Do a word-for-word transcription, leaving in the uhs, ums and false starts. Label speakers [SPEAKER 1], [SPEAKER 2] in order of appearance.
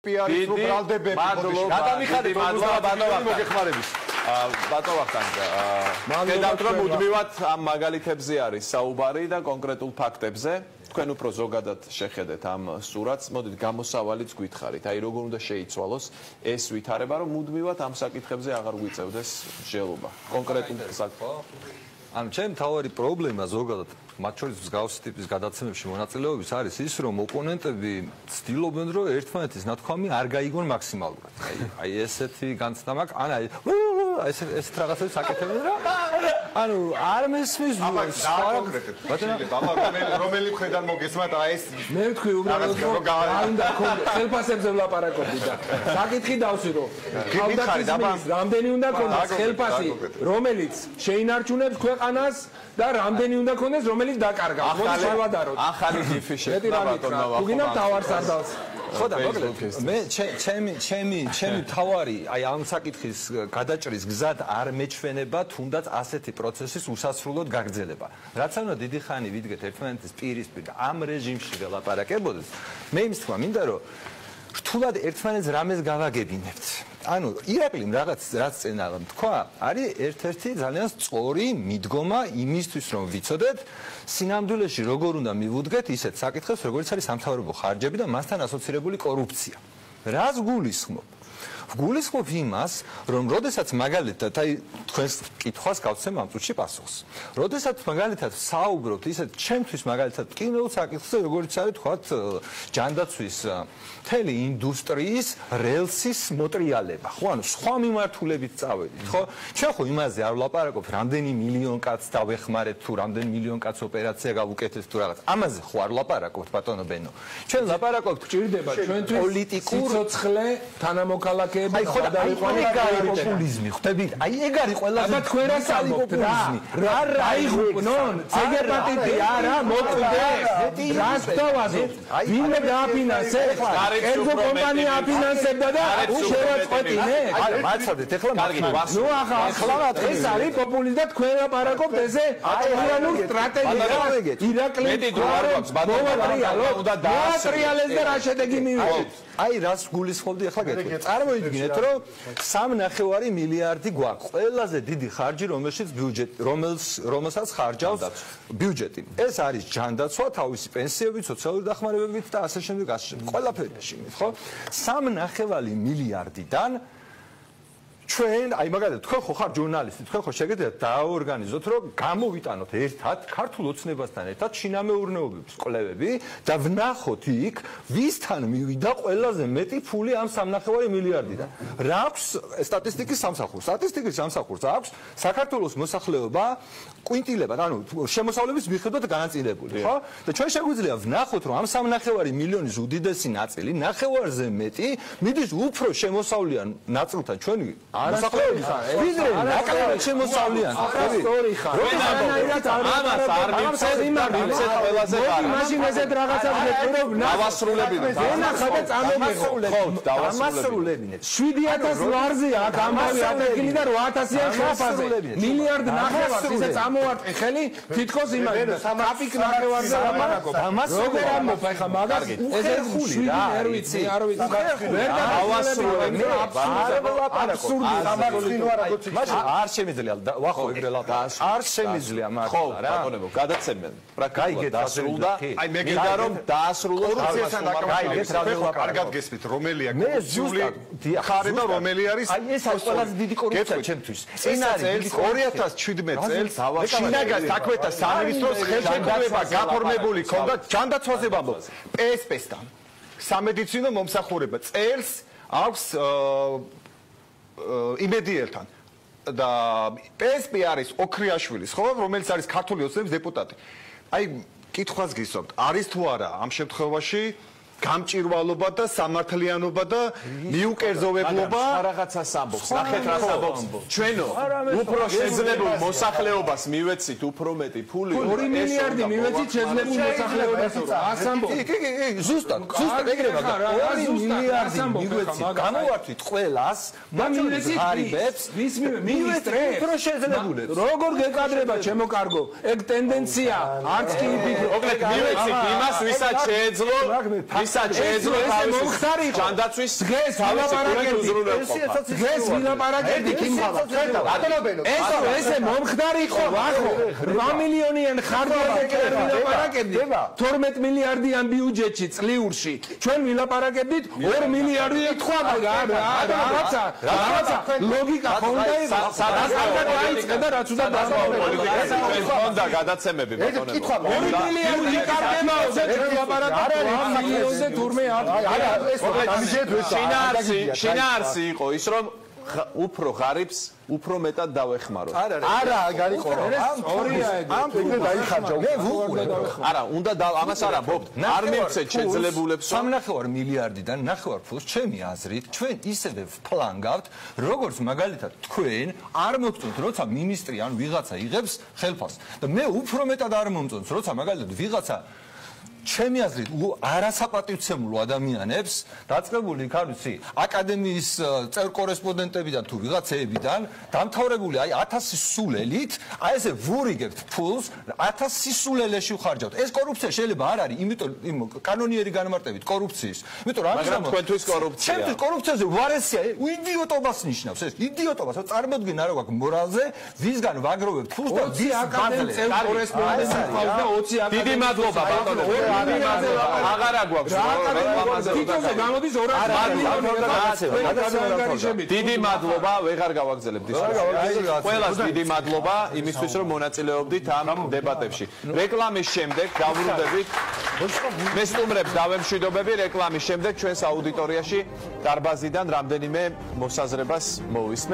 [SPEAKER 1] პიარის რო ბრალდებები
[SPEAKER 2] გადამიხადეთ მოგეხმარების ბატონ ვახტანგ დედავთ რომ მუდმივად ამ მაგალითებზე არის საუბარი და კონკრეტულ ფაქტებზე თქვენ უფრო ზოგადად შეხედეთ ამ სურათს მოდით გამოსავალიც გითხარით აი როგორ უნდა შეიცვალოს ეს ვითარება რომ მუდმივად ამ საკითხებზე აღარ გვიწევდეს მსჯელობა კონკრეტულ საკითხს
[SPEAKER 3] ანუ ჩემ თავარი პრობლემა ზოგადად მათ შორის მსგავსი ტიპის გადაცემებში მონაწილეობის არის ის რომ ოპონენტები ცდილობენ რომ ერთმანეთის ნათქვამი არ გაიგონ მაქსიმალურად აი აი ესეთი განცდა მაქვს ან აი ეს ეს რაღაცებს აკეთებენ რა ანუ არ მესმის
[SPEAKER 1] კონკრეტულად აბა რომელი მხრიდან მოგესმათ აი ეს
[SPEAKER 4] მე ვთქვი უბრალოდ რომ უნდა ხელფასებზე ვლაპარაკობდი და საკითხი დავსვირო ხალხის რამდენი უნდა ქონდეს ხელფასი რომელიც შეინარჩუნებს ქვეყანას და რამდენი უნდა ქონდეს რომელიც დაკარგავს მოდი შევადაროთ
[SPEAKER 2] ახალი გიფი შექმნა ბატონმა
[SPEAKER 4] ვახტანგ თუ გინდა თავარსარდალს
[SPEAKER 3] ხო და მოკლედ მე ჩემი ჩემი ჩემი თავარი აი ამ საკითხის გადაჭრის გზად არ მეჩვენება თუნდაც ასეთი პროცესის უსასრულოდ გაგრძელება რაც უნდა დიდი ხანი ვიდგეთ ერთმანეთის პირისპირ და ამ რეჟიმში ველაპარაკებოდეს მე იმის თქვა მინდა რომ რთულად ერთმანეთს რამეს გავაგებინებთ ანუ ირაკლიმ რაღაც რაც წენა თქვა არის ერთ-ერთი ძალიან სწორი მიდგომა იმისთვის რომ ვიცოდეთ სინამდვილეში როგორ უნდა მივუდგეთ ისეთ საკითხებს როგორც არის სამთავრობო ხარჯები და მასთან ასოცირებული კორუფცია რას გულისხმობ გულისხმობ იმას რომ როდესაც მაგალითად აი თქვენს კითხვას გავცემ ამ წუთში პასუხს როდესაც მაგალითად საუბრობთ ისეთ ჩემთვის მაგალითად კინო საკითხზე როგორც არის თქვათ ჯანდაცვის მთელი ინდუსტრიის რელსის მოტრიალება ხო ანუ სხვა მიმართულებით წავედით ხო ჩვენ ხო იმაზე არ ვლაპარაკობთ რამდენი მილიონ კაცს დავეხმარეთ თუ რამდენი მილიონ კაცს ოპერაცია გავუკეთეთ თუ რაღაც ამაზე ხო არ ვლაპარაკობთ ბატონო ბენო ჩვენ ვლაპარაკობთ
[SPEAKER 4] გჭირდება ჩვენთვის პოლიტიკურ სიცოცხლე თანამოქალაქე
[SPEAKER 3] აი ხო და აი ეგ არის პოპულიზმი ხვდებით აი ეგ არის ყველაზე
[SPEAKER 4] თქვენ რას ამბობთ რა რა რაიღვნონ ცეგეპატიტი არა მოკვდე რას დავაზობთ ვინმე გააფინანსებს ერგო კომპანია აფინანსებდა და შევაწყვეტინე
[SPEAKER 3] აი მაცადეთ ეხლა
[SPEAKER 4] ნუ ახლა ეს არის პოპულიზმი და თქვენ ლაპარაკობთ ესე აჭიანურ სტრატეგიას ირაკლი მოვატრიალო და დაასრიალეს და რა შედეგი მივიღეთ
[SPEAKER 3] აი რას გულისხმობდი ახლა გეტყვი წარმოიდგინეთ რომ სამი ნახევარი მილიარდი გვაქვს ყველაზე დიდი ხარჯი რომელშიც ბიუჯეტი რომელს რომელსაც ხარჯავს ბიუჯეტი ეს არის ჯანდაცვა თავისი პენსიებით სოციალური დახმარებებით და ასე შემდეგ ასე შემდეგ ყველაფერში ხო სამი ნახევარი მილიარდიდან ჩვენ აი მაგალითად თქვენ ხო ხარ ჟურნალისტი თქვენ ხო შეგიძლიათ დააორგანიზოთ რომ გამოვიტანოთ ერთად ქართულ ოცნებასთან ერთად შინამეურნეობების კვლევები და ვნახოთ იქ ვისთან მივიდა ყველაზე მეტი ფული ამ სამი ნახევარი მილიარდიდან რა აქვს სტატისტიკის სამსახურს სტატისტიკის სამსახურს აქვს საქართველოს მოსახლეობა კვინტილებად ანუ შემოსავლების მიხედვით განაწილებული ხო და ჩვენ შეგვიძლია ვნახოთ რომ ამ სამი ნახევარი მილიონის უდიდესი ნაწილი ნახევარზე მეტი მიდის უფრო შემოსავლიან ნაწილთან ჩვენი მოსახლეობის ვიდრე ნაკლები შემოსავლიან
[SPEAKER 4] სწორი ხარ
[SPEAKER 2] როდესაც ამას არ მიცეთ იმარიცეთ ყველაზე ხარ
[SPEAKER 4] მაშინ ესეთ რაღაცას გეტყვი რომ
[SPEAKER 2] დავასრულებინეთ
[SPEAKER 4] ენახა და წამომიღოთ
[SPEAKER 2] დავასრულებინეთ
[SPEAKER 4] შვიდი ათასი ლარზია აქ ამბავი ატეკილი და ორი ათასიან ხალხაზე მილიარდ ნახევარს ისე წამოვარტყი ხელი თითქოს იმაში კაპიკ ნახევარზე ლაპარაკობ როგორ ამბობ ახლა მაგას ესე ხული რა არ ვიცი არ ვიცი ვერ
[SPEAKER 2] დავასრულებინე
[SPEAKER 4] აბსურდი
[SPEAKER 2] მაშინ არ შემიძლია ვახო ეგრე ლაპარაკ
[SPEAKER 3] არ შემიძლია მართლა რა
[SPEAKER 2] ბატონებო გადაცემენ პრაქტიკულად დასრულდა აი მე გინდა რომ დაასრულოს
[SPEAKER 1] კორუფციასთან დაკავშირებით კარგად გესმით რომელია კორუფციული ხარე და რომელი არის
[SPEAKER 3] აი ეს არის ყველაზე დიდი კორუფცია ჩემთვის
[SPEAKER 1] წინა წელს ორი ათას შვიდმეტ წელს შინაგან საქმეთა სამინისტროს ხელშეკრულება გაფორმებული ქონდა ჯანდაცვაზე ვამბობ პსპ-სთან სამედიცინო მომსახურება წელს აქვს იმედიელთან და პსპ არის ოქრიაშვილის ხო რომელიც არის ქართული ოცნების დეპუტატი აი კითხვას გისვამთ არის თუ არა ამ შემთხვევაში გამჭირვალობა და სამართლიანობა და მიუკერძოვებლობა
[SPEAKER 2] რაღაცას ამბობს ნახეთ რას ამბობს ჩვენო უფრო შეძლებულ მოსახლეობას მივეცით უფრო მეტი ფული
[SPEAKER 4] ორი მილიარდი მივეცით შეძლებულ მოსახლეობას ას ამბობს
[SPEAKER 3] კი კი კი ზუსტად ზუსტად ეგრე მაგა ორი მილიარდი მივეცით გამოვართვით ყველას
[SPEAKER 4] და მივეცით ღარიბებს
[SPEAKER 3] ვის მივეცით უფრო შეძლებულებს
[SPEAKER 4] როგორ გეკადრება ჩემო კარგო ეგ ტენდენცია არც კი იფიქრო
[SPEAKER 2] მოკლედ მივეცით იმას ვისაც შეეძლო ვისაც შეეძლო თავის ჯანდაცვის
[SPEAKER 4] დღეს ვილაპარაკებდი დღეს ვილაპარაკებდი კიმხალა ეს ესე მომხდარი ხო ახო რვა მილიონიან ხარჯზე ვილაპარაკებდი თორმეტ მილიარდიან ბიუჯეტში წლიურში ჩვენ ვილაპარაკებდით ორ მილიარდი თქვა რაღაცა რაღაცა ლოგიკა ხონდა სადაც დაიწყე და რაც უნდა
[SPEAKER 2] პოლიტიკაში ხონდა გადაცემები ბატონო
[SPEAKER 4] ორი მილიარდი კარგებაო და ვილაპარაკებთ რვა მილიონზე თურმე არა ეს
[SPEAKER 2] შინაარსი შინაარსი იყო ის რომ უფრო ღარიბს უფრო მეტად დავეხმაროთ.
[SPEAKER 5] არა, არა, გარიყო.
[SPEAKER 4] ორია ეგ.
[SPEAKER 5] ამ ფიქრე დაიხარჯა.
[SPEAKER 3] მე ვუყურე.
[SPEAKER 2] არა, უნდა ამას არ ამბობთ. არ მივცეთ შეძლებულებს.
[SPEAKER 3] სამნახევარ მილიარდიდან ნახევარ ფულს ჩემი აზრით ჩვენ ისევე ვფლანგავთ, როგორც მაგალითად თქვენ არ მოგწონთ, როცა მინისტრი ან ვიღაცა იღებს ხელფასს. და მე უფრო მეტად არ მომწონს, როცა მაგალითად ვიღაცა ჩემი აზრით არასაპატივცემულო ადამიანებს დაწყებული იქ არის აკადემიის წევრ კორესპონდენტებიდან თუ ვიღაცეებიდან დამთავრებული აი ათასი სულელით აი ესე ვურიგებთ ფულს ათასი სულელეში ვხარჯავთ ეს კორუფცია შეიძლება არ არის იმიტომ იმ კანონიერი განმარტებით კორუფციის იმიტომ რომ
[SPEAKER 2] მაგრამ თქვენთვის კორუფცია
[SPEAKER 3] ჩემთვის კორუფციაზე ვარესია იდიოტობას ნიშნავს ეს იდიოტობას რომ წარმოდგენა რა გვაქვს მორალზე ვისგან ვაგროვებთ ფულს და ვის
[SPEAKER 4] აკადემიის წევრ კორესპონდენტი ყავს და ოცი აკადემიის
[SPEAKER 2] დიდი მადლობა ბატონო აღარა გვაქვს
[SPEAKER 4] თითოზე გამოდის ორასი
[SPEAKER 2] დიდი მადლობა ვეღარ გავაგზავნებთ ის ყველას დიდი მადლობა იმისთვის რომ მონაწილეობდით ამ დებატებში რეკლამის შემდეგ დავრუნდებით მე სტუმრებს დავემშვიდობები რეკლამის შემდეგ ჩვენს აუდიტორიაში დარბაზიდან რამდენიმე მოსაზრებას მოვისმენთ